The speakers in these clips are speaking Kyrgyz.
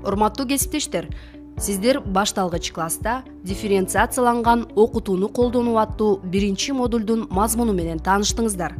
Урматтуу кесиптештер, сиздер башталгыч класста дифференциацияланган окутууну колдонуу аттуу биринчи модулдун мазмуну менен тааныштыңыздар.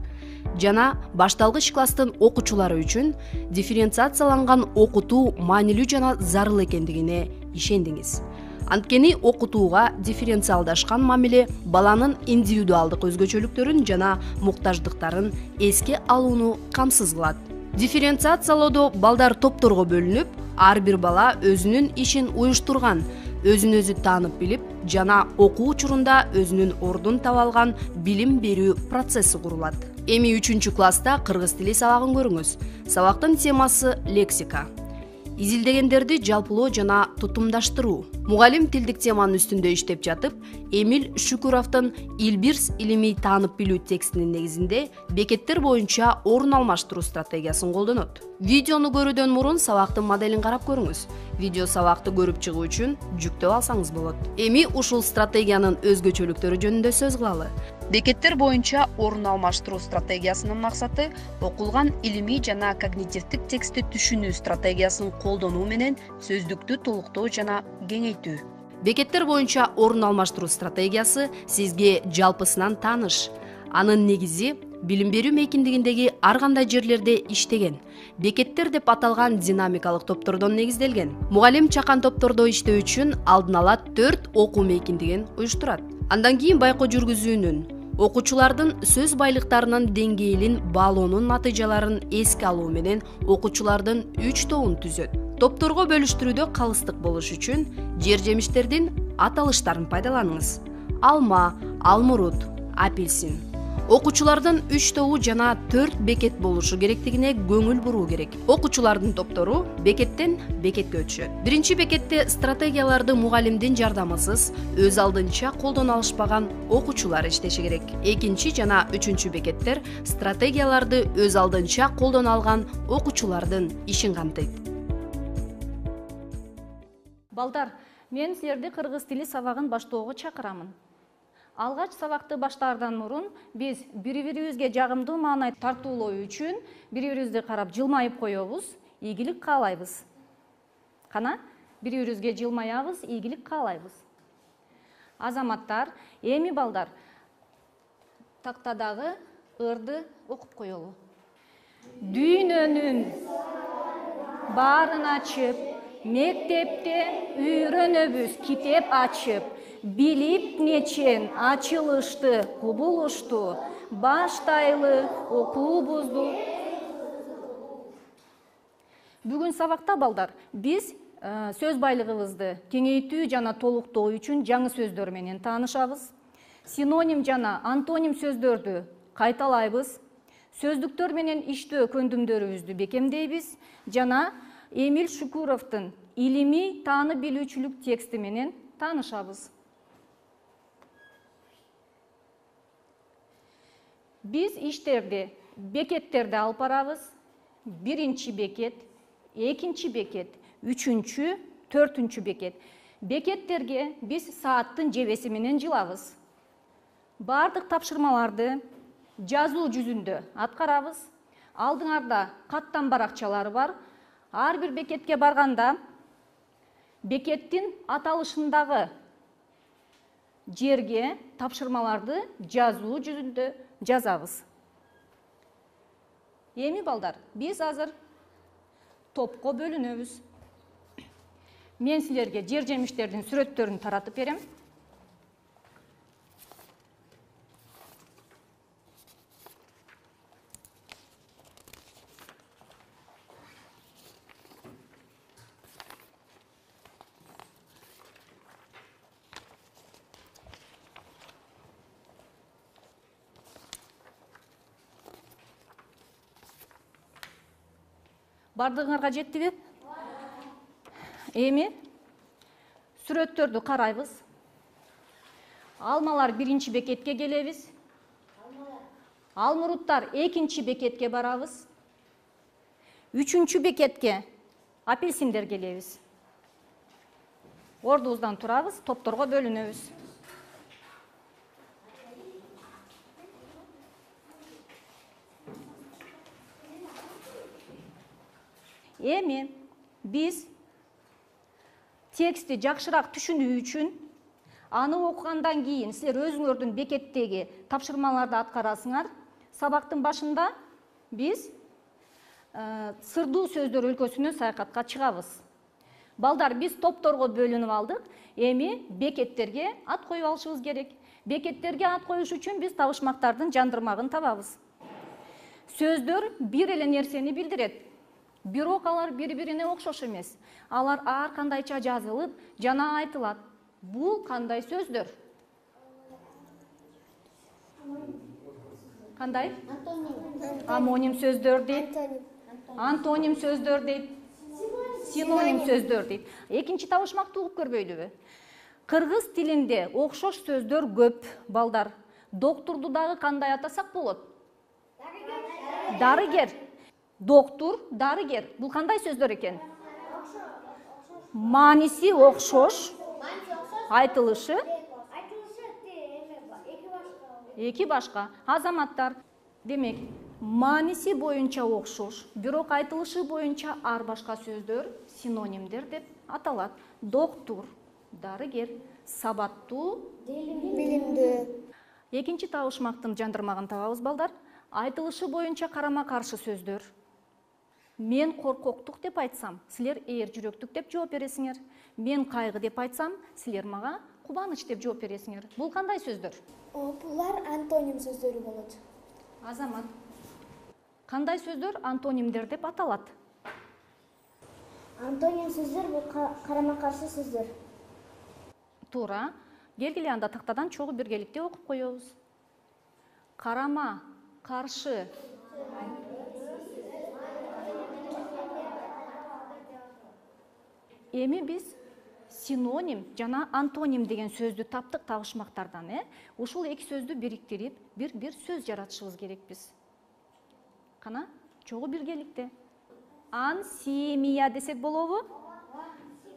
Жана башталгыч класстын окуучулары үчүн дифференциацияланган окутуу маанилүү жана зарыл экендигине ишендиңиз. Анткени окутууга дифференциалдашкан мамиле баланын индивидуалдык өзгөчөлүктөрүн жана муктаждыктарын эске алууну камсыз кылат. Дифференциациялоодо балдар топторго бөлүнүп, ар бир бала өзүнүн ишин уюштурган, өзүн өзү таанып билип жана окуу учурунда өзүнүн ордун таба алган билим берүү процесси курулат. Эми 3 класста кыргыз тили сабагын көрүңүз. Сабактын темасы лексика. Изилдегендерди жалпылоо жана тутумдаштыруу. Мугалим тилдик теманын үстүндө иштеп жатып, Эмиль Шүкүровдун Илбирс илимий таанып билүү текстинин негизинде бекеттер боюнча орун алмаштыруу стратегиясын колдонот. Видеону көрүүдөн мурун сабактын моделин карап көрүңүз. Видео сабакты көрүп чыгуу үчүн жүктөп алсаңыз болот. Эми ушул стратегиянын өзгөчөлүктөрү жөнүндө сөз кылалы. Бекеттер боюнча орун алмаштыруу стратегиясынын максаты окулган илимий жана когнитивдик текстти түшүнүү стратегиясын колдонуу менен сөздүктү толуктоо жана кеңейтүү. Бекеттер боюнча орун алмаштыруу стратегиясы сизге жалпысынан тааныш. Анын негизи билим берүү мейкиндигиндеги ар кандай жерлерде иштеген. Бекеттер деп аталган динамикалык топтордон негизделген. Мугалим чакан топтордо иштөө үчүн алдын ала 4 окуу мейкиндигин уюштурат. Андан кийин байкоо жүргүзүүнүн, окуучулардын сөз байлыктарынын деңгээлин баалоонун натыйжаларын эске алуу менен окуучулардын 3 тобун түзөт. Топторго бөлүштүрүүдө калыстык болуш үчүн жер жемиштердин аталыштарын пайдаланыңыз. Алма, алмурут, апельсин. Окуучулардын 3 тобу жана 4 бекет болушу керектигине көңүл буруу керек. Окуучулардын топтору бекеттен бекетке өтүшөт. Биринчи бекетте стратегияларды мугалимдин жардамысыз өз алдынча колдоно алышпаган окуучулар иштеши керек. Экинчи жана 3 бекеттер стратегияларды өз алдынча колдоно алган окуучулардын ишин камтыйт. Балдар, мен силерди кыргыз тили сабагын баштоого чакырамын. Алгач сабакты баштаардан мурун биз бири-бирибизге жагымдуу маанай тартуулоо үчүн бири-бирибизди карап жылмайып коебуз, ийгилик каалайбыз. Кана, бири-бирибизге жылмаябыз, ийгилик каалайбыз. Азаматтар, эми балдар, тактадагы ырды окуп коелу. Дүйнөнүн баарын ачып, мектепте үйрөнөбүз китеп ачып, билип нечен ачылышты кубулушту, баштайлы окуубузду. Бүгүн сабакта балдар биз сөз байлыгыбызды кеңейтүү жана толуктоо үчүн жаңы сөздөр менен таанышабыз. Синоним жана антоним сөздөрдү кайталайбыз. Сөздүктөр менен иштөө көндүмдөрүбүздү бекемдейбиз жана Эмиль Шүкүровдун илимий таанып билүүчүлүк тексти менен таанышабыз. Биз иштерди, бекеттерди алып барабыз. Биринчи бекет, экинчи бекет, 3-чү, 4-чү бекет. Бекеттерге биз сааттын жебеси менен жылабыз. Бардык тапшырмаларды жазуу жүзүндө аткарабыз. Алдыңарда каттан баракчалары бар. Ар бир бекетке барганда бекеттин аталышындагы жерге тапшырмаларды жазуу жүзүндө жазабыз. Эми балдар, биз азыр топко бөлүнөбүз. Мен силерге жер жемиштердин сүрөттөрүн таратып берем. Бардыгыңарга жеттиби? Эми сүрөттөрдү карайбыз. Алмалар биринчи бекетке келебиз. Алмуруттар экинчи бекетке барабыз. 3-чү бекетке апельсиндер келебиз. Ордубуздан турабыз, топторго бөлүнөбүз. Эми биз текстти жакшыраак түшүнүү үчүн аны окугандан кийин силер өзүңөрдүн бекеттеги тапшырмаларды аткарасыңар. Сабактын башында биз сырдуу сөздөр өлкөсүнө саякатка чыгабыз. Балдар, биз топторго бөлүнүп алдык. Эми бекеттерге ат коюп алышыбыз керек. Бекеттерге ат коюш үчүн биз табышмактардын жандырмагын табабыз. Сөздөр бир эле нерсени билдирет. Бирок алар бири-бирине окшош эмес. Алар ар кандайча жазылып жана айтылат. Бул кандай сөздөр? Кандай? Амоним сөздөр дейт. Антоним сөздөр дейт. Синоним сөздөр дейт. Экинчи табышмакты угуп көрбөйлүбү? Кыргыз тилинде окшош сөздөр көп, балдар. Доктурду дагы кандай атасак болот? Дарыгер. Доктур, дарыгер. Бул кандай сөздөр экен? Мааниси окшош, айтылышы эки башка. Азаматтар, демек, мааниси боюнча окшош, бирок айтылышы боюнча ар башка сөздөр синонимдер деп аталат. Доктур, дарыгер, сабаттуу, билимдүү. Экинчи табышмактын жандырмагын табабыз, балдар. Айтылышы боюнча карама-каршы сөздөр. Мен коркоктук деп айтсам, силер ээр жүрөктүк деп жооп бересиңер. Мен кайгы деп айтсам, силер мага кубаныч деп жооп бересиңер. Бул кандай сөздөр? Булар антоним сөздөрү болот. Азамат, кандай сөздөр антонимдер деп аталат? Антоним сөздөр бул карама-каршы сөздөр. Туура. Келгиле анда тактадан чогуу биргеликте окуп коебуз. Карама, каршы. Эми биз синоним жана антоним деген сөздү таптык табышмактардан. Ушул эки сөздү бириктирип, бир сөз жаратышыбыз керек биз. Кана, чогуу биргеликте. Ансемия десек болобу?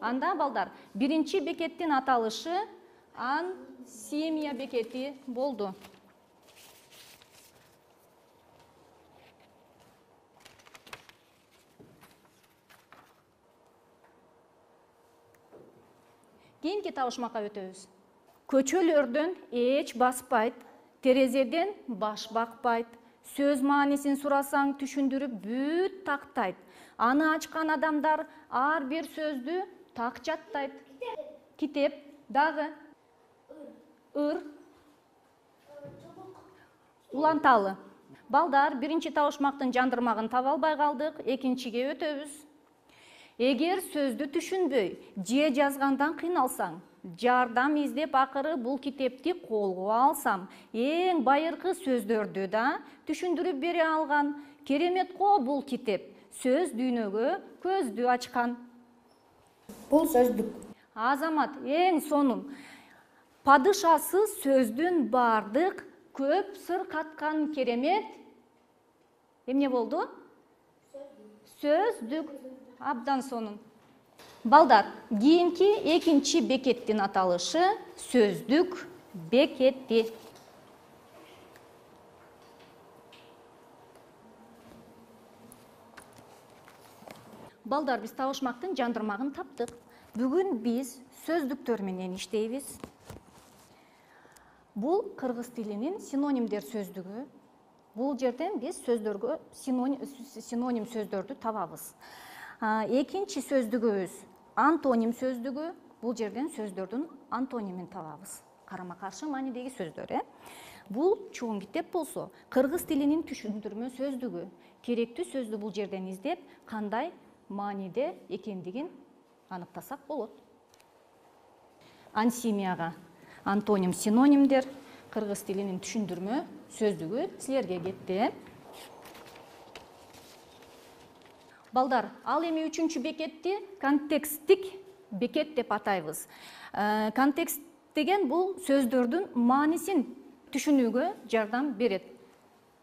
Анда, балдар, биринчи бекеттин аталышы ансемия бекети болду. Кийинки табышмакка өтөбүз. Көчөлөрдөн эч баспайт, терезеден баш бакпайт. Сөз маанисин сурасаң түшүндүрүп бүт тактайт. Аны ачкан адамдар ар бир сөздү так жаттайт. Китеп, дагы ыр, уланталы. Балдар, биринчи табышмактын жандырмагын таба албай калдык, экинчиге өтөбүз. Эгер сөздү түшүнбөй, же жазгандан кыйналсаң, жардам издеп акыры бул китепти колго алсам, эң байыркы сөздөрдү да түшүндүрүп бере алган. Керемет го бул китеп. Сөз дүйнөгө көздү ачкан. Бул сөздүк. Азамат, эң сонун. Падышасы сөздүн бардык көп сыр каткан керемет. Эмне болду? Сөздүк. Абдан сонун. Балдар, кийинки экинчи бекеттин аталышы сөздүк бекети. Балдар, биз табышмактын жандырмагын таптык. Бүгүн биз сөздүктөр менен иштейбиз. Бул кыргыз тилинин синонимдер сөздүгү. Бул жерден биз сөздөргө синоним сөздөрдү табабыз. Экинчи сөздүгүбүз антоним сөздүгү. Бул жерден сөздөрдүн антонимин табабыз. Карама-каршы маанидеги сөздөр. Бул чоң китеп болсо, кыргыз тилинин түшүндүрмө сөздүгү. Керектүү сөздү бул жерден издеп, кандай мааниде экендигин аныктасак болот. Ансемияга антоним, синонимдер, кыргыз тилинин түшүндүрмө сөздүгү силерге кетти. Балдар, ал эми үчүнчү бекетти контексттик бекет деп атайбыз. Контекст деген бул сөздөрдүн маанисин түшүнүүгө жардам берет.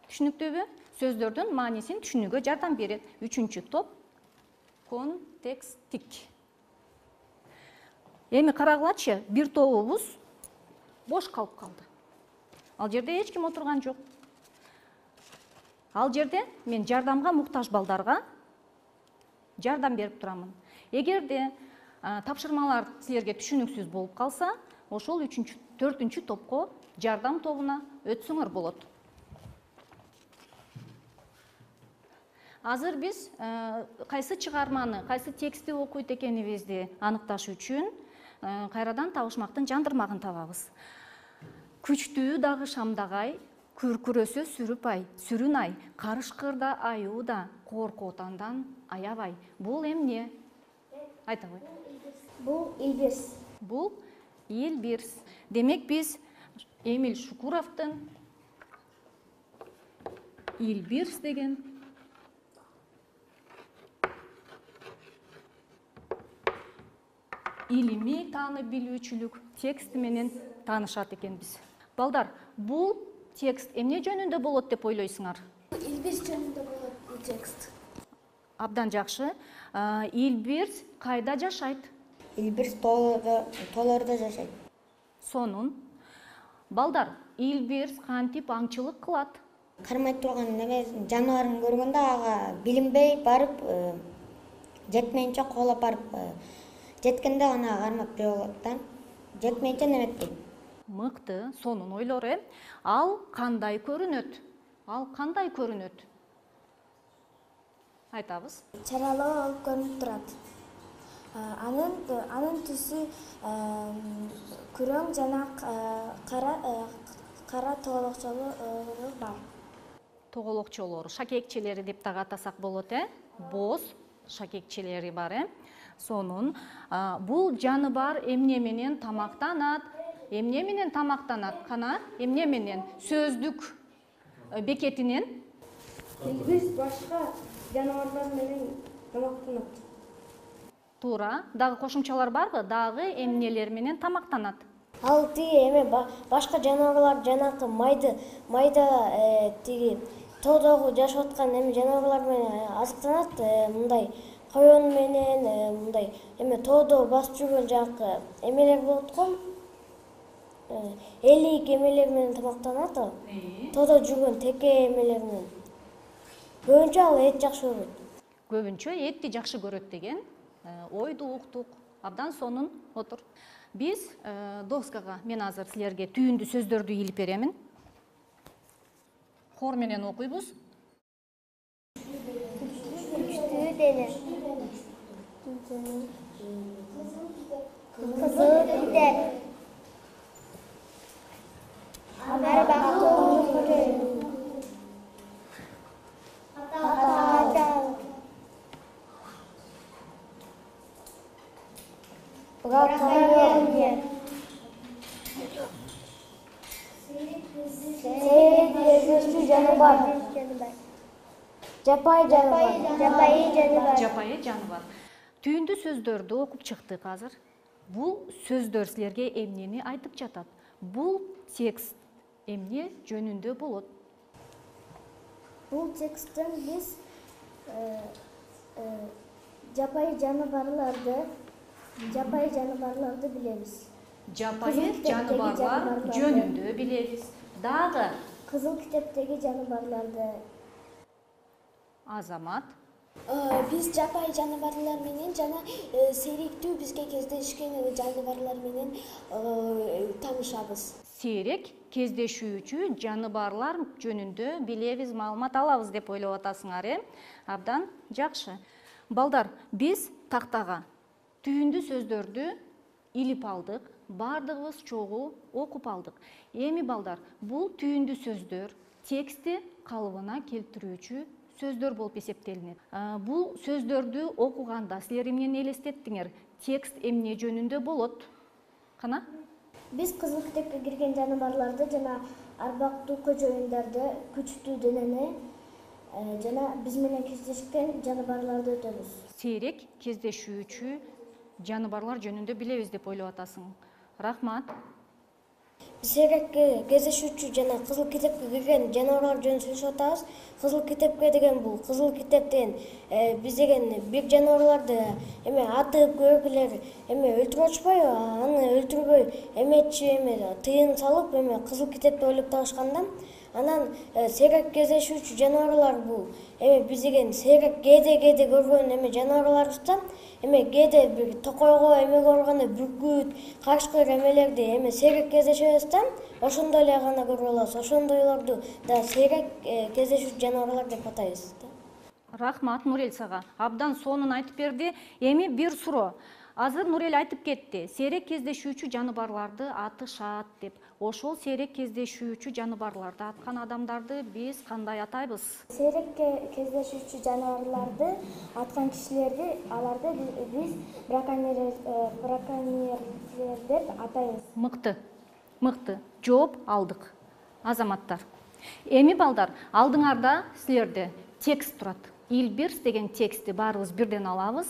Түшүнүктүүбү? Сөздөрдүн маанисин түшүнүүгө жардам берет. Үчүнчү топ контексттик. Эми карагылачы, бир тобубуз бош калып калды. Ал жерде эч ким отурган жок. Ал жерде мен жардамга муктаж балдарга жардам берип турамын. Эгерде Тапшырмалар силерге түшүнүксүз болуп калса, ошол 4-4 топко жардам тобуна өтсөңөр болот. Азыр биз кайсы чыгарманы, кайсы текстти окуйт экенибизди аныкташ үчүн кайрадан табышмактын жандырмагын табабыз. Күчтүү дагы шамдагай, күркүрөсө сүрүн ай, карышкырда аюуда, корку отандан аябай. Бул эмне? Айта кой. Бул Илбирс. Бул Илбирс. Демек биз Эмиль Шукуровдун Илбирс деген илимий таанып билүүчүлүк тексти менен таанышат экенбиз. Балдар, бул текст эмне жөнүндө болот деп ойлойсуңар? Илбирс жөнүндө болот бул текст. Абдан жакшы. Илбирс кайда жашайт? Илбирс тоолордо жашайт. Сонун. Балдар, Илбирс кантип аңчылык кылат? Кармай турган жаныбарын көргөндө ага билинбей барып, жетмейинче коолап барып, жеткенде аны кармап жөө болот да. Жетмейинче неметпейт. Мыкты, сонун ойлор, Ал кандай көрүнөт? Айтабыз. Чаралуу болуп көрүнүп турат. Анын түсү күрөң жана кара тоголокчолору бар. Тоголокчолору, шакекчелери деп дагы атасак болот, Боз шакекчелери бар, Сонун. Бул жаныбар эмне менен тамактанат? Кана, эмне менен? Сөздүк бекетинен? Илбирс башка жаныбарлар менен тамактанат. Туура. Дагы кошумчалар барбы? Дагы эмнелер менен тамактанат? Ал тиги башка жаныбарлар жанакы майда тиги тоодогу жашап аткан жаныбарлар менен азыктанат, мындай коён менен, мындай тоодо басып жүргөн жанакы эмелер болот го. Элик эмелер менен тамактанат. Тоодо жүргөн теке эмелер менен. Көбүнчө ал эт жакшы көрөт. Көбүнчө этти жакшы көрөт деген ойду уктук. Абдан сонун, отур. Биз доскага мен азыр силерге түйүндү сөздөрдү илип беремин. Хор менен окуйбуз. Күчтүү дене. Кызыл китеп. Арбактуу көрөм. Жапайы жаныбар. Түйүндү сөздөрдү окуп чыктык азыр. Бул сөздөр силерге эмнени айтып жатат? Бул текст эмне жөнүндө болот? Бул тексттен биз жапайы жаныбарларды билебиз. Жапайы жаныбарлар жөнүндө билебиз. Дагы Кызыл китептеги жаныбарларды. Азамат. Биз жапайы жаныбарлар менен жана сейректүү бизге кездешкен жаныбарлар менен таанышабыз. Сейрек кездешүүчү жаныбарлар жөнүндө билебиз, маалымат алабыз деп ойлоп атасыңар, Абдан жакшы. Балдар, биз тактага түйүндү сөздөрдү илип алдык, бардыгыбыз чогуу окуп алдык. Эми балдар, бул түйүндү сөздөр текстти калыбына келтирүүчү сөздөр болуп эсептелинет. Бул сөздөрдү окуганда силер эмнени элестеттиңер? Текст эмне жөнүндө болот? Кана? Биз кызыл китепке кирген жаныбарларды жана арбактуу көчөйүндөрдү, күчтүү денени жана биз менен кездешкен жаныбарларды өтөбүз. Сейрек кездешүүчү жаныбарлар жөнүндө билебиз деп ойлоп атасың. Рахмат. Сейрек кездешүүчү жана кызыл китепке кирген жаныбарлар жөнүндө сүйлөшүп атабыз. Кызыл китепке деген бул кызыл китеп деген биз деген бир жаныбарларды атып көргүлөр өлтүрүп атышпайбы? Аны өлтүрбөй эметчи тыйын салып кызыл китеп деп ойлоп табышкан да. Анан сейрек кездешүүчү жаныбарлар бул биз деген сейрек кээде көргөн жаныбарларбыз да. Кээде бир токойго көргөндө бүркүт, карышкыр эмелерди сейрек кездешебиз да. Ошондой эле гана көрүп алабыз. Ошондойлорду да сейрек кездешүүчү жаныбарлар деп атайбыз да. Рахмат Нурел сага. Абдан сонун айтып берди. Эми бир суроо. Азыр Нурел айтып кетти. Сейрек кездешүүчү жаныбарларды атышат деп. Ошол сейрек кездешүүчү жаныбарларды аткан адамдарды биз кандай атайбыз? Сейрек кездешүүчү жаныбарларды аткан кишилерди аларды биз браконьерлер деп атайбыз. Мыкты. Жооп алдык. Азаматтар. Эми балдар, алдыңарда силерде текст турат. Илбирс деген текстти баарыбыз бирден алабыз.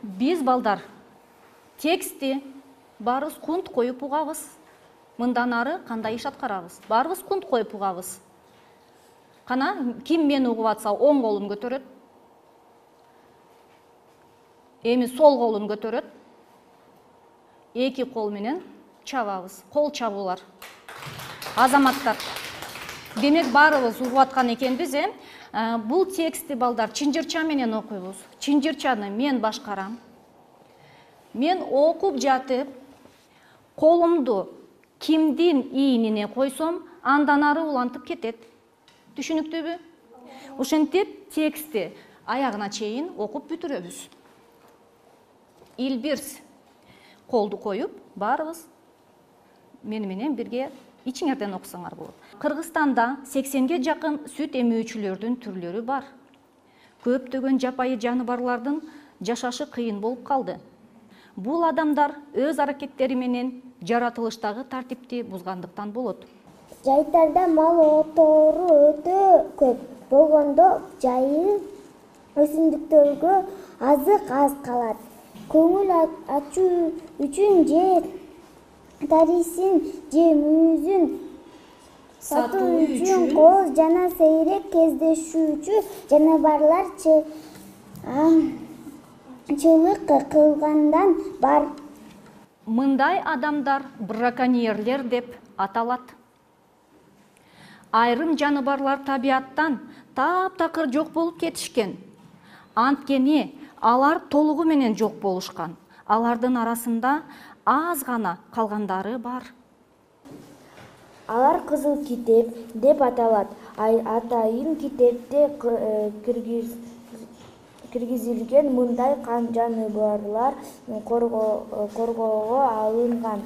Биз балдар текстти баарыбыз кунт коюп угабыз. Мындан ары кандай иш аткарабыз? Баарыбыз кунт коюп угабыз. Кана ким мени угуп атса оң колун көтөрөт. Эми сол колун көтөрөт. Эки кол менен чабабыз. Кол чабуулар. Азаматтар. Демек баарыбыз угуп аткан экенбиз, Бул текстти балдар чынжырча менен окуйбуз. Чынжырчаны мен башкарам. Мен окуп жатып, колумду кимдин ийинине койсом, андан ары улантып кетет. Түшүнүктүүбү? Ошентип текстти аягына чейин окуп бүтүрөбүз. Илбирс колду коюп, баарыбыз мени менен бирге ичиңерден окусаңар болот. Кыргызстанда 80ге жакын сүт эмүүчүлөрдүн түрлөрү бар. Көптөгөн жапайы жаныбарлардын жашашы кыйын болуп калды. Бул адамдар өз аракеттери менен жаратылыштагы тартипти бузгандыктан болот. Жайтарда мал отору өтө көп болгондо жайыл өсүмдүктөргө азык аз калат. Көңүл ачуу үчүн же тарисин же мүйүзүн сатуу үчүн кооз жана сейрек кездешүүчү жаныбарлар чылык кылгандан бар. Мындай адамдар браконьерлер деп аталат. Айрым жаныбарлар табияттан таптакыр жок болуп кетишкен. Анткени алар толугу менен жок болушкан. Алардын арасында аз гана калгандары бар. Алар кызыл китеп деп аталат. Атайын китепте киргизилген мындай жаныбарлар коргоого алынган.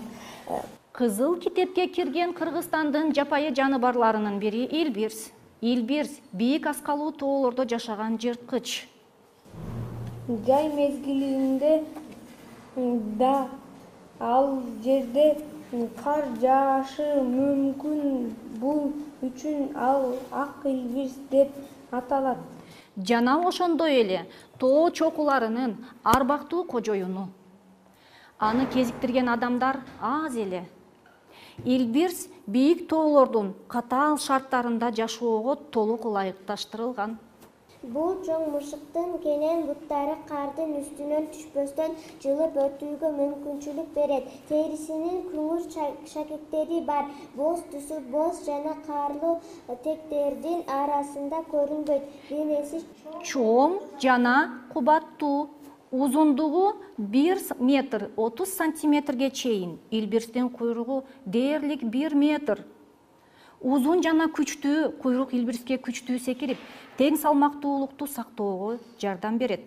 Кызыл китепке кирген Кыргызстандын жапайы жаныбарларынын бири илбирс. Илбирс бийик аскалуу тоолордо жашаган жырткыч. Жай мезгилинде да ал жерде кар жаашы мүмкүн. Бул үчүн ал ак илбирс деп аталат. Жана ошондой эле тоо чокуларынын арбактуу кожоюну. Аны кезиктирген адамдар аз эле. Илбирс бийик тоолордун катаал шарттарында жашоого толук ылайыкташтырылган. Бул чоң мышыктын кенен буттары кардын үстүнөн түшпөстөн жылып өтүүгө мүмкүнчүлүк берет. Терисинин күңүр шакектери бар. Боз түсү боз жана карлуу тектердин арасында көрүнбөйт. Денеси чоң жана кубаттуу. Узундугу 1 метр 30 сантиметрге чейин. Илбирстин куйругу дээрлик 1 метр. Узун жана күчтүү куйрук илбирске күчтүү секирип, тең салмактуулукту сактоого жардам берет.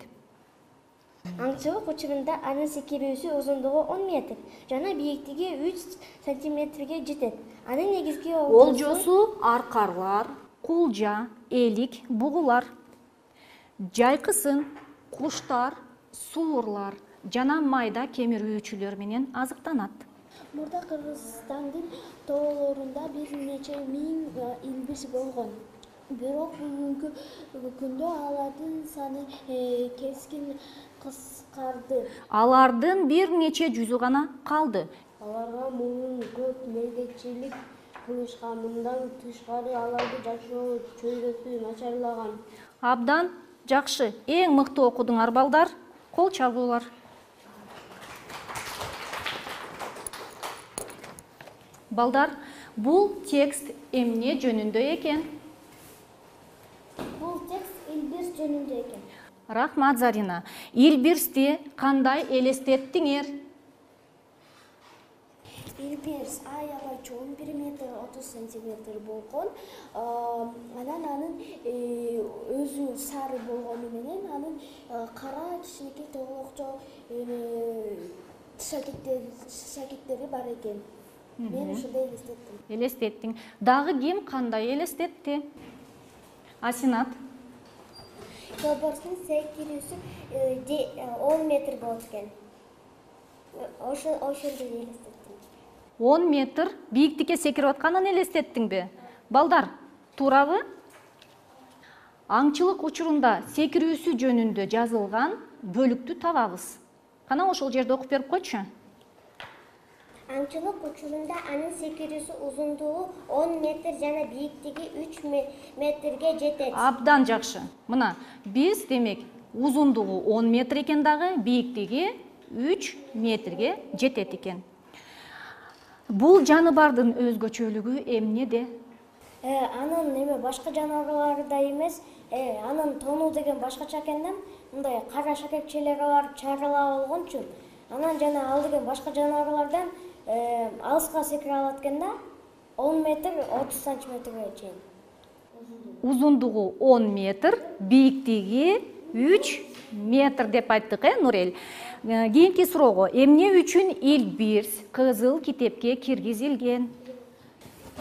Аңчылык учурунда анын секирүүсү узундугу 10 метр жана бийиктиги 3 сантиметрге жетет. Анын негизги олжосу аркарлар, кулжа, элик, бугулар. Жайкысын куштар, суурлар жана майда кемирүүчүлөр менен азыктанат. Мурда Кыргызстандын тоолорунда бир нече миң илбирс болгон. Бирок бүгүнкү күндө алардын саны кескин кыскарды. Алардын бир нече жүзү гана калды. Аларга мунун көп мелдетчилик кылышкан. Мындан тышкары аларды жашоо чөйрөсү начарлаган. Абдан жакшы. Эң мыкты окудуңар балдар. Кол чабуулар. Балдар, бул текст эмне жөнүндө экен? Бул текст Илбирс жөнүндө экен. Рахмат, Зарина. Илбирсти кандай элестеттиңер? Илбирс аябай чоң, 1 метр 30 сантиметр болгон. Анан анын өзү сары болгону менен анын кара кичинекей тоголокчо шакектери бар экен. Мен ушундай элестеттим. Элестеттиң. Дагы ким кандай элестетти? Асинат. Тобордун секирүүсү 10 метр болот экен. Ошондой элестеттим. 10 метр бийиктикке секирип атканын элестеттиңби? Балдар, туурабы? Аңчылык учурунда секирүүсү жөнүндө жазылган бөлүктү табабыз. Кана ошол жерде окуп берип койчу. Аңчылык учурунда анын секирүүсү узундугу 10 метр жана бийиктиги 3 метрге жетет. Абдан жакшы. Мына, биз демек узундугу 10 метр экен дагы, бийиктиги 3 метрге жетет экен. Бул жаныбардын өзгөчөлүгү эмнеде? Анын башка жаныбарлардай эмес, анын тону деген башкача экен да, мындай кара шакекчелери бар, чарыла болгон үчүн. Анан жана ал деген башка жаныбарлардан алыска секире алат экен да, 10 метр 30 сантиметрге чейин. Узундугу 10 метр, бийиктиги 3 метр деп айттык, Нурел. Кийинки суроого, эмне үчүн Илбирс кызыл китепке киргизилген?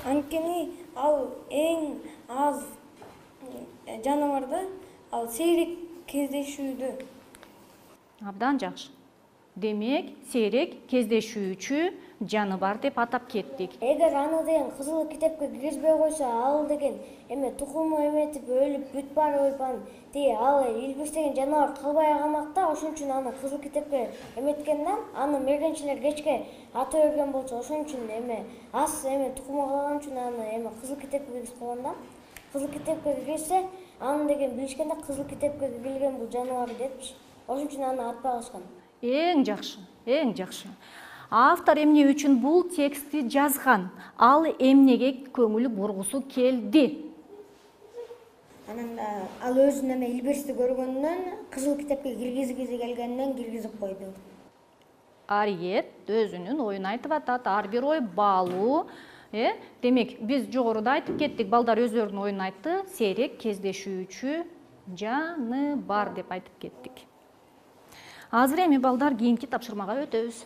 Анткени ал эң аз жаныбар да, ал сейрек кездешүүдө. Абдан жакшы. Демек, сейрек кездешүүчү жаныбар деп атап кеттик. Эгер аны деген кызыл китепке киргизбей койсо, ал деген тукуму эметип өлүп бүт барып ал Илбирс деген жаныбар калбай калмак да, ошон үчүн аны кызыл китепке эметкен да, аны мергенчилер кечке ата берген болчу, ошон үчүн аз тукуму калган үчүн аны кызыл китепке киргизип койгон да. Кызыл китепке киргизсе, аны деген билишкен да, кызыл китепке киргизилген бул жаныбар депчи. Ошон үчүн аны атпай калышкан. Эң жакшы, эң жакшы. Автор эмне үчүн бул текстти жазган? Ал эмнеге көңүл бургусу келди? Анан ал өзүнүн Илбирсти көргөндөн кызыл китепке киргизгиси келгенден киргизип койду. Ариет өзүнүн оюн айтып атат. Ар бир ой баалуу. Демек, биз жогоруда айтып кеттик, балдар өздөрүнүн оюн айтты. Сейрек кездешүүчү жаныбар деп айтып кеттик. Азыр эми балдар кийинки тапшырмага өтөбүз.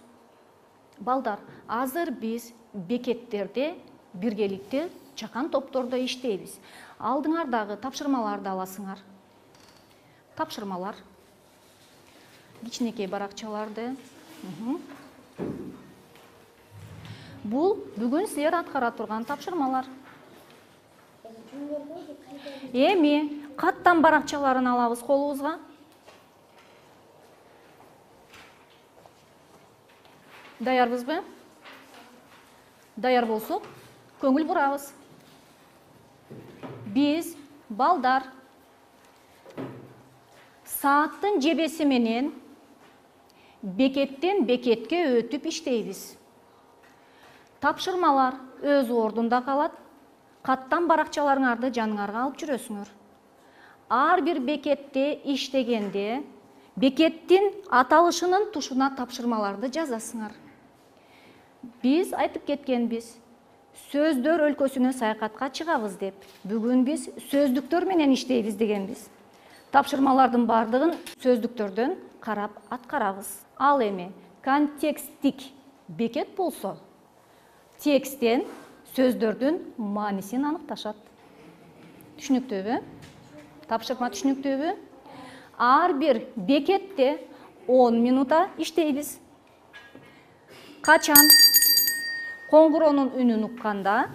Балдар, азыр биз бекеттерде биргеликте чакан топтордо иштейбиз. Алдыңардагы тапшырмаларды аласыңар. Тапшырмалар. Кичинекей баракчаларды. Бул бүгүн силер аткара турган тапшырмалар. Эми каттан баракчаларын алабыз колубузга. Даярбызбы? Даяр болсок, көңүл бурабыз. Биз, балдар, сааттын жебеси менен бекеттен бекетке өтүп иштейбиз. Тапшырмалар өз ордунда калат. Каттан баракчаларыңарды жаныңарга алып жүрөсүңөр. Ар бир бекетте иштегенде бекеттин аталышынын тушуна тапшырмаларды жазасыңар. Биз айтып кеткенбиз, сөздөр өлкөсүнө саякатка чыгабыз деп. Бүгүн биз сөздүктөр менен иштейбиз дегенбиз. Тапшырмалардын бардыгын сөздүктөрдөн карап аткарабыз. Ал эми контекстик бекет болсо, тексттен сөздөрдүн маанисин аныкташат. Түшүнүктүүбү? Тапшырма түшүнүктүүбү? Ар бир бекетте 10 минута иштейбиз. Качан коңгуроонун үнүн укканда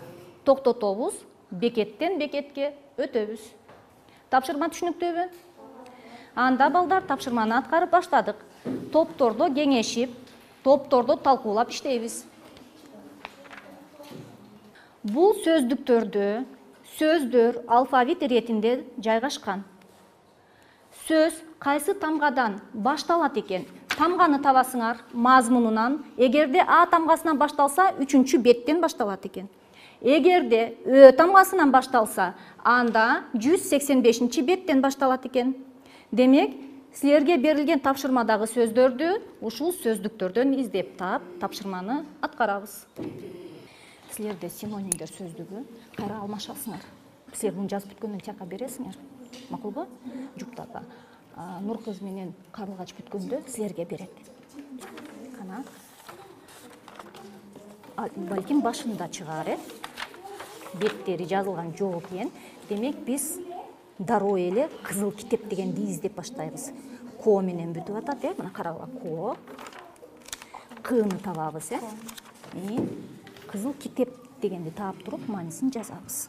токтотобуз, бекеттен бекетке өтөбүз. Тапшырма түшүнүктүүбү? Анда балдар тапшырманы аткарып баштадык. Топтордо кеңешип, топтордо талкуулап иштейбиз. Бул сөздүктөрдө сөздөр алфавит иретинде жайгашкан. Сөз кайсы тамгадан башталат экен? Тамганы табасыңар мазмунунан. Эгерде А тамгасынан башталса, 3-чү беттен башталат экен. Эгерде Ö тамгасынан башталса, анда 185-чи беттен башталат экен. Демек, силерге берилген тапшырмадагы сөздөрдү ушул сөздүктөрдөн издеп таап, тапшырманы аткарабыз. Силерде синонимдер сөздүгү кайра алмашасыңар. Силер муну жазып бүткөндөн тияка бересиңер. Макулбу? Жуптарга Нур кыз менен Карлыгач бүткөндө силерге берет. Кана. Балким башында чыгар, беттери жазылган жок экен. Демек, биз дароо эле кызыл китеп дегенди издеп баштайбыз. Ко менен бүтүп атат, мына карагыла, ко. Кыны табабыз, кызыл китеп дегенди таап туруп, маанисин жазабыз.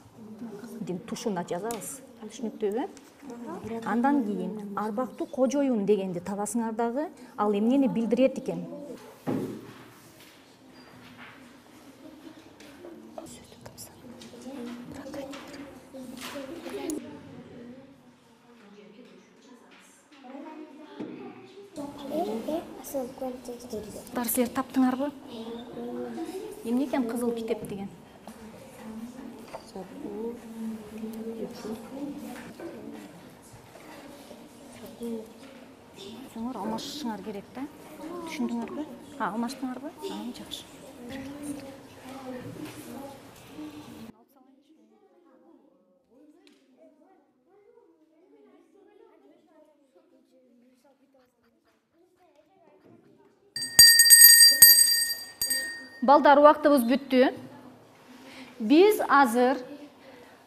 Тушуна жазабыз. Түшүнүктүүбү? Андан кийин арбактуу кожоюн дегенди табасыңар дагы, ал эмнени билдирет экен? Силер таптыңарбы? Эмне экен кызыл китеп деген? Сеңер алмашышыңар керек да. Түшүндүңөрбү? Алмаштыңарбы? Жакшы. Балдар, убактыбыз бүттү. Биз азыр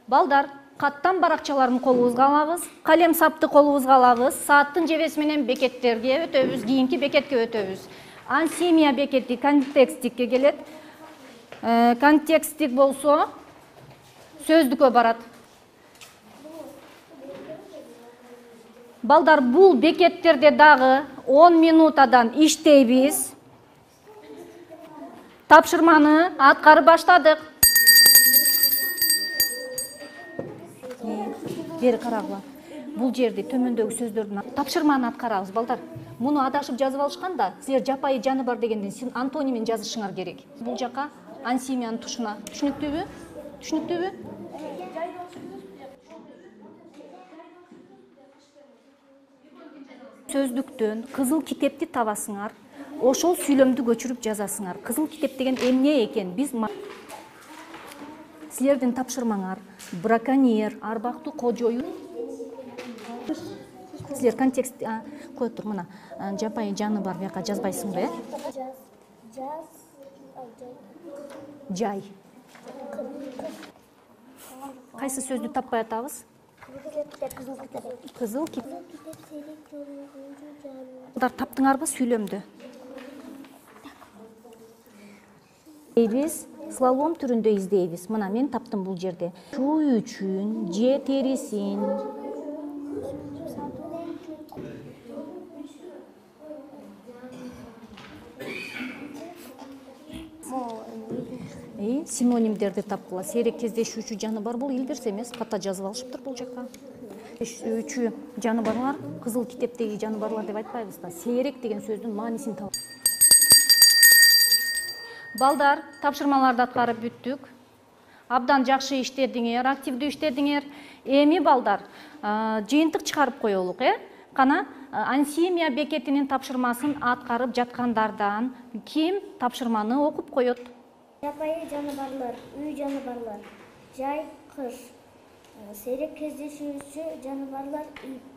балдар каттан баракчаларын колубузга алабыз, калем сапты колубузга алабыз, сааттын жебеси менен бекеттерге өтөбүз, кийинки бекетке өтөбүз. Ансемия бекети контекстикке келет. Контекстик болсо сөздүккө барат. Балдар, бул бекеттерде дагы 10 минутадан иштейбиз. Тапшырманы аткарып баштадык. Бери карагыла. Бул жерде төмөндөгү сөздөрдүн тапшырманы аткарабыз, балдар. Муну адашып жазып алышканда, силер жапайы жаны бар дегенден антонимин жазышыңар керек. Бул жака ансемиянын тушуна. Түшүнүктүүбү? Түшүнүктүүбү? Сөздүктөн кызыл китепти табасыңар. Ошол сүйлөмдү көчүрүп жазасыңар. Кызыл китеп деген эмне экен? Биз силердин тапшырмаңар браконьер, арбактуу кожоюн. Силер контекст кое тур, мына жапайы жаны бар, бияка жазбайсыңбы, Жай. Кайсы сөздү таппай атабыз? Кызыл китеп. Таптыңарбы сүйлөмдү? Биз слалом түрүндө издейбиз. Мына мен таптым бул жерде. Шу үчүн же терисин. Синонимдерди тапкыла. Сейрек кездешүүчү жаны бар, бул илгирсе эмес, ката жазып алышыптыр бул жака. Кездешүүчү жаны барлар, кызыл китептеги жаны барлар деп айтпайбыз да. Сейрек деген сөздүн маанисин табып. Балдар, тапшырмаларды аткарып бүттүк. Абдан жакшы иштедиңер, активдүү иштедиңер. Эми балдар, жыйынтык чыгарып коелук, Кана ансемия бекетинин тапшырмасын аткарып жаткандардан ким тапшырманы окуп коет? Жапайы жаныбарлар, үй жаныбарлар, жай, кыш. Сейрек кездешүүчү жаныбарлар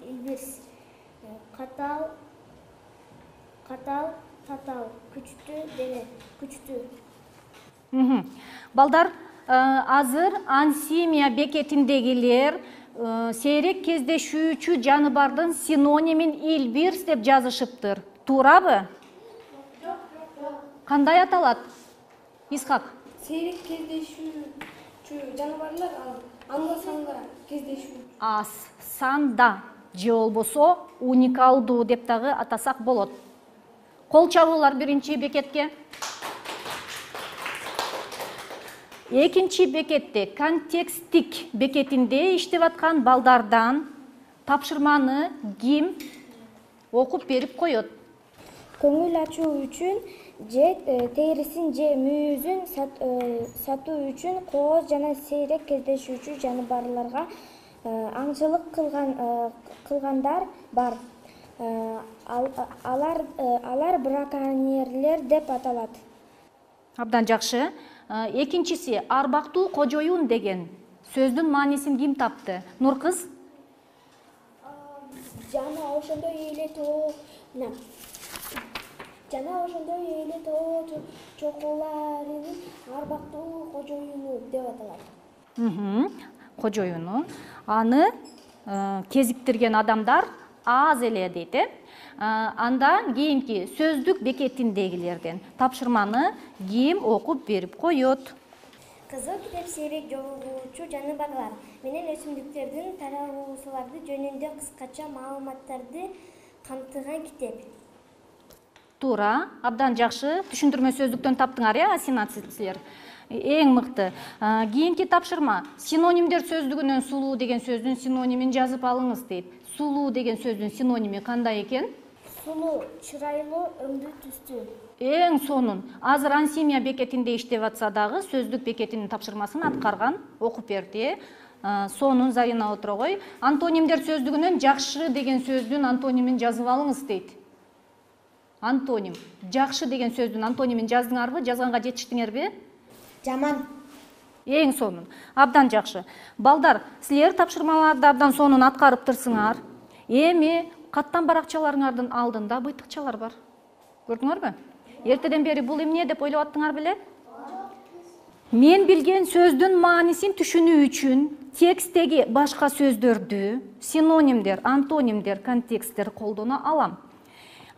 илбирс. Катал, татал, күчтүү дене, күчтүү. Балдар, азыр ансемия бекетиндегилер сейрек кездешүүчү жаныбардын синонимин илбирс деп жазышыптыр. Туурабы? Кандай аталат? Исхак. Сейрек кездешүүчү жаныбарлар анда санда кездешүү. Аз санда же болбосо уникалдуу деп дагы атасак болот. Кол чабуулар биринчи бекетке. Экинчи бекетте контекстик бекетинде иштеп аткан балдардан тапшырманы ким окуп берип коет? Көңүл ачуу үчүн же терисин же мүйүзүн сатуу үчүн кооз жана сейрек кездешүүчү жаныбарларга аңчылык кылгандар бар. Алар браконьерлер деп аталат. Абдан жакшы. Экинчиси арбактуу кожоюн деген сөздүн маанисин ким тапты? Нуркыз? Жана ошондой эле тоо чокуларынын арбактуу кожоюну деп аталат. Кожоюну. Аны кезиктирген адамдар аз эле дейт, Андан кийинки сөздүк бекетиндегилерден тапшырманы ким окуп берип коет? Кызыл китеп сейрек жолугуучу жаныбарлар менен өсүмдүктөрдүн таралуусулары жөнүндө кыскача маалыматтарды камтыган китеп. Туура, абдан жакшы. Түшүндүрмө сөздүктөн таптыңар, Асина силер? Эң мыкты. Кийинки тапшырма. Синонимдер сөздүгүнөн сулуу деген сөздүн синонимин жазып алыңыз дейт. Сулуу деген сөздүн синоними кандай экен? Сулуу, чырайлуу, өңдүү түстүү. Эң сонун. Азыр ансимия бекетинде иштеп атса дагы сөздүк бекетинин тапшырмасын аткарган, окуп берди. Сонун Зарина Отрогой. Антонимдер сөздүгүнөн жакшы деген сөздүн антонимин жазып алыңыз дейт. Антоним. Жакшы деген сөздүн антонимин жаздыңарбы? Жазганга жетиштиңерби? Жаман. Эң сонун. Абдан жакшы. Балдар, силер тапшырмаларды абдан сонун аткарыптырсыңар. Эми каттан баракчаларыңардын алдында быйтыкчалар бар. Көрдүңөрбү? Эртеден бери бул эмне деп ойлоп аттыңар беле? Мен билген сөздүн маанисин түшүнүү үчүн текстеги башка сөздөрдү, синонимдер, антонимдер, контексттер колдоно алам.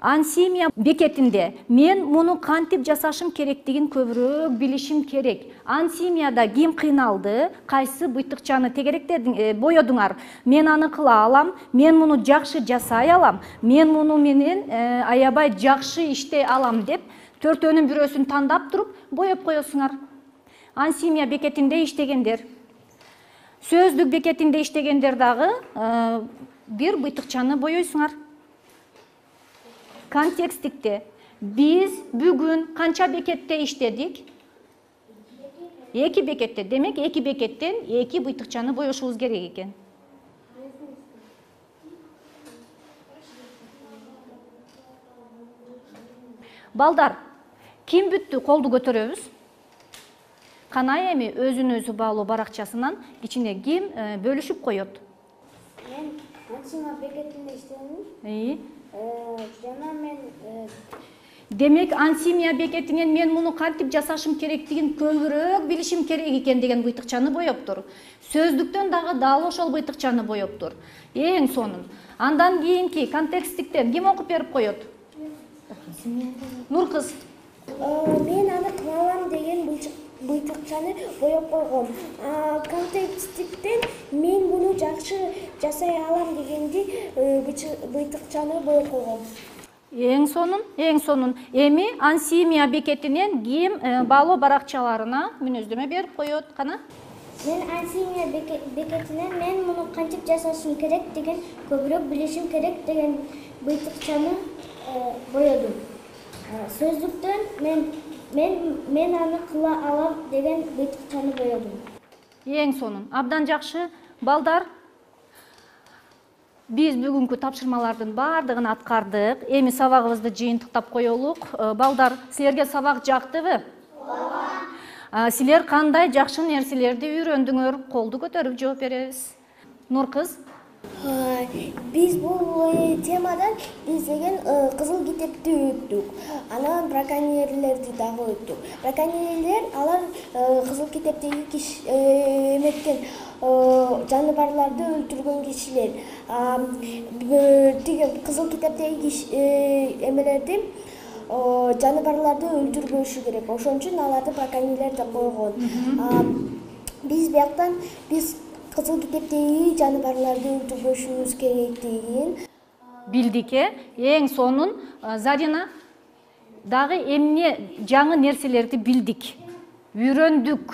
Ансимия бекетинде мен муну кантип жасашым керектигин көбүрөөк билишим керек. Ансимияда ким кыйналды, кайсы быйтыкчаны тегеректедиң, боёдуңар. Мен аны кыла алам, мен муну жакшы жасай алам, мен муну менен аябай жакшы иштей алам деп төртөөнүн бирөөсүн тандап туруп боеп коесуңар. Ансимия бекетинде иштегендер. Сөздүк бекетинде иштегендер дагы бир быйтыкчаны боёйсуңар. Контекстикте биз бүгүн канча бекетте иштедик? 2 бекетте. Демек 2 бекеттен 2 быйтыкчаны боюшубуз керек экен. Балдар, ким бүттү? Колду көтөрөбүз. Кана эми өзүн өзү баалоо баракчасынан ичине ким бөлүшүп коет? Мен ансимия бекетинде иштедим. Жана мен Демек ансимия бекетинен мен муну кантип жасашым керектигин көбүрөөк билишим керек экен деген быйтыкчаны боептур. Сөздүктөн дагы дал ошол быйтыкчаны боептур. Эң сонун. Андан кийинки контекстиктен ким окуп берип коет? Нуркыз. Мен аны кылалам деген быйтыкчаны боеп койгом. Контекстиктен мен муну жакшы жасай алам дегенди быйтыкчаны боеп койгом. Эң сонун, эң сонун. Эми ансимия бекетинен ким баалоо баракчаларына мүнөздөмө берип коет? Кана? Мен ансимия бекетинен мен муну кантип жасашым керек деген көбүрөөк билишим керек деген быйтыкчаны боёдум. Сөздүктөн мен аны кыла алам деген быйтыкчаны боёдум. Эң сонун. Абдан жакшы. Балдар, биз бүгүнкү тапшырмалардын баардыгын аткардык. Эми сабагыбызды жыйынтыктап коелук. Балдар, силерге сабак жактыбы? Ооба. Силер кандай жакшы нерселерди үйрөндүңөр? Колду көтөрүп жооп беребиз. Нуркыз? Биз бул темадан издеген кызыл китепти өттүк. Анан браконьерлерди дагы өттүк. Браконьерлер алар кызыл китептеги эметкен жаныбарларды өлтүргөн кишилер. Тиги кызыл китептеги эмелерди жаныбарларды өлтүрбөшү керек. Ошон үчүн аларды браконьерлер деп койгон. Биз бияктан кызыл китептеги жаныбарларды өлтүрбөшүбүз керектигин билдик. Эң сонун Зарина дагы эмне жаңы нерселерди билдик, үйрөндүк.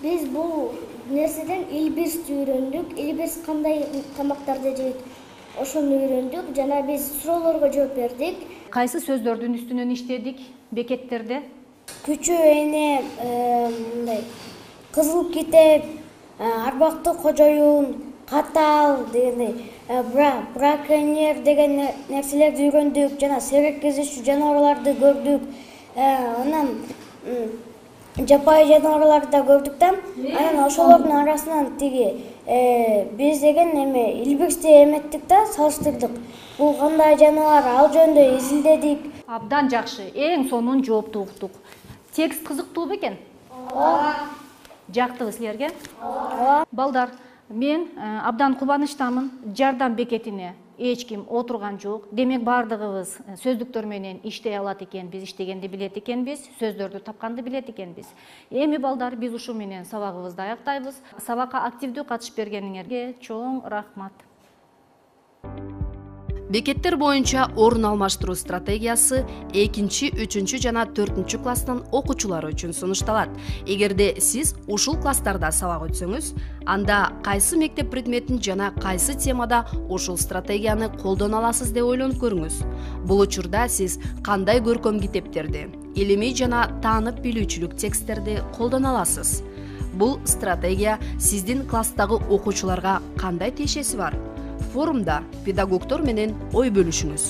биз бул нерседен илбирсти үйрөндүк. Илбирс кандай тамактарды жейт, ошону үйрөндүк жана биз суроолорго жооп бердик. Кайсы сөздөрдүн үстүнөн иштедик бекеттерде? Күчү эне, мындай кызыл китеп, арбактуу кожоюн, катал дегендей, браконьер деген нерселерди үйрөндүк жана сейрек кездешүү жаныбарларды көрдүк. Анан жапайы жаныбарларды да көрдүк да. Анан ошолордун арасынан биз деген илбирсти эметтик да, салыштырдык. Бул кандай жаныбар, ал жөнүндө изилдедик. Абдан жакшы, эң сонун жоопту уктук. Текст кызыктуу бекен? Ооба. Жактыбы силерге? Ооба. Балдар, мен абдан кубанычтамын. Жардам бекетине эч ким отурган жок. Демек бардыгыбыз сөздүктөр менен иштей алат экенбиз, иштегенди билет экенбиз, сөздөрдү тапканды билет экенбиз. Эми балдар, биз ушу менен сабагыбызды аяктайбыз. Сабакка активдүү катышып бергениңерге чоң рахмат. Бекеттер боюнча орун алмаштыруу стратегиясы 2, 3 жана 4 класстын окуучулары үчүн сунушталат. Эгерде сиз ушул класстарда сабак өтсөңүз, анда кайсы мектеп предметин жана кайсы темада ушул стратегияны колдоно аласыз деп ойлонуп көрүңүз. Бул учурда сиз кандай көркөм китептерди, илимий жана таанып билүүчүлүк тексттерди колдоно аласыз? Бул стратегия сиздин класстагы окуучуларга кандай тиешеси бар? Форумда педагогдор менен ой бөлүшүңүз.